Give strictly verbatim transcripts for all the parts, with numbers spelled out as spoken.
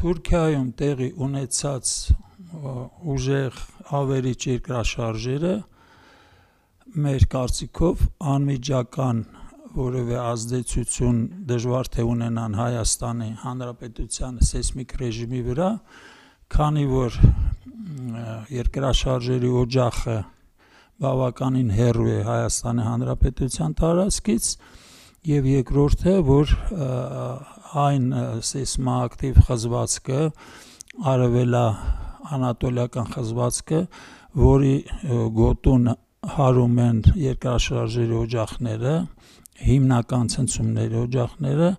Թուրքիայում տեղի ունեցած ուժեղ ավերիչ երկրաշարժերը մեր կարծիքով անմիջական որևէ ազդեցություն դժվար թե ունենան Հայաստանի Հանրապետության սեյսմիկ ռեժիմի վրա, քանի որ երկրաշարժերի օջախը բավականին հեռու է Հայաստանի Հանրապետության տարածքից, եւ երկրորդը, որ այն սեյսմոակտիվ խզվածքը, արևելաանատոլիական խզվածքը, որի գոտուն հարում են երկրաշարժերի օջախները, հիմնական ցնցումների օջախները,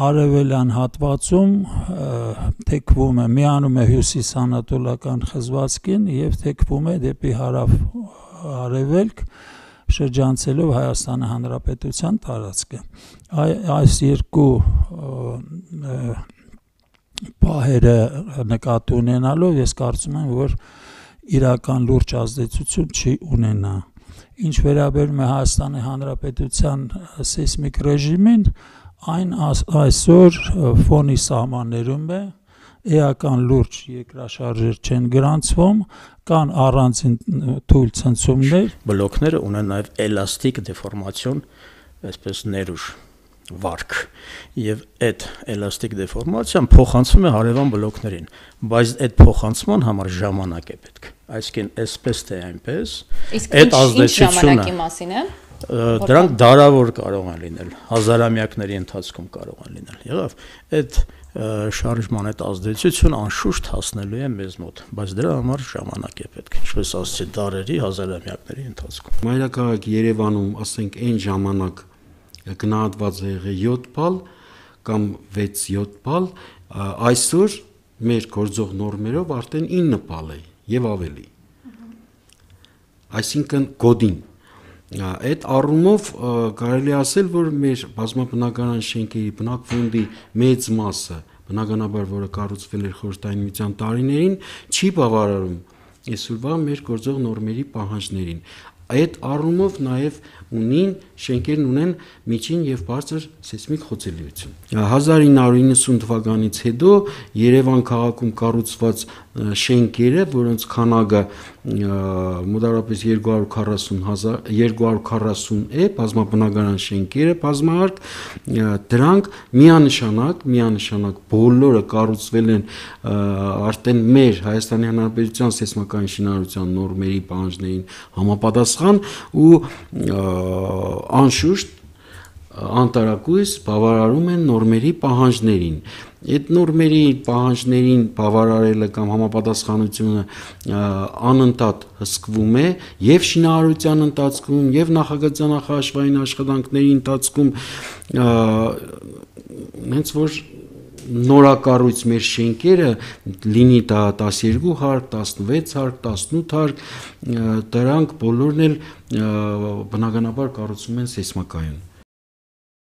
արևելյան հատվածում թեքվում է, միանում է հյուսիսանատոլական խզվածքին եւ թեքվում է դեպի հարավ արևելք, շրջանցելով Հայաստանի Հանրապետության տարածքը։ Այս երկու պահերը նկատի ունենալով ես կարծում եմ, որ իրական լուրջ ազդեցություն չի ունենա։ Ինչ վերաբերում է Հայաստանի Հանրապետության սեյսմիկ ռեժիմին, այն այսօր ֆոնի սահմաններում է, էական լուրջ երկրաշարժեր չեն գրանցվում, կան առանձին թույլ ցնցումներ։ Բլոկները ունեն նաև էլաստիկ դեֆորմացիոն, այսպես ներուժ վարք, եւ այդ էլաստիկ դեֆորմացիան փոխանցվում է հարևան բլոկներին, բայց այդ փոխանցման համար ժամանակ է պետք։ Այսինքն, այսպես թե այնպես, այդ ազդեցությունը դրանք դարավոր կարող են լինել, հազարամյակների ընթացքում կարող են լինել։ Եղավ, այդ շարժման այդ ազդեցությունը անշուշտ հասնելու է մեզ մոտ, բայց դրա համար ժամանակ է պետք, ինչպես ասացի, դարերի, հազարամյակների ընթացքում։ Մայրաքաղաք Երևանում, ասենք, այն ժամանակ գնահատված է եղել յոթ բալ կամ վեց-յոթ բալ, այսօր մեր գործող նորմերով արդեն ինը բալ է եւ ավելի։ Այսինքն գոդին։ Այդ առումով կարելի ասել, որ մեր բազմաբնակարան շենքերի բնակվոնդի մեծ մասը, բնականաբար, որը կառուցվել էր Խորհրդային Միության տարիներին, չի բավարարում այսօրվա մեր գործող նորմերի պահանջներին։ Այդ առումով նաև ունին շենքերն ունեն միջին եւ բարձր սեյսմիկ խոցելիություն։ հազար ինը հարյուր իննսուն թվականից հետո Երևան քաղաքում կառուցված շենքերը, որոնց քանակը մոտավորապես երկու հարյուր քառասուն է, բազմաբնակարան շենքերը, բազմահարկ, դրանք միանշանակ, միանշանակ բոլորը կառուցվել են արդեն մեր Հայաստանի Հանրապետության սեյսմական շինարարության նորմերի պահանջներին համապատասխան ու անշուշտ անտարակույս բավարարում են նորմերի պահանջներին։ Այդ նորմերի պահանջներին բավարարելը կամ համապատասխանությունը անընդհատ հսկվում է եւ շինարարության ընթացքում եւ նախագծանախաշվային աշխատանքների ընթացքում, հենց որ նորակառույց մեր շենքերը լինի դա տասներկու հարկ, տասնվեց հարկ, տասնութ հարկ, դրանք բոլորն էլ բնականաբար կառուցվում են սեյսմակայուն։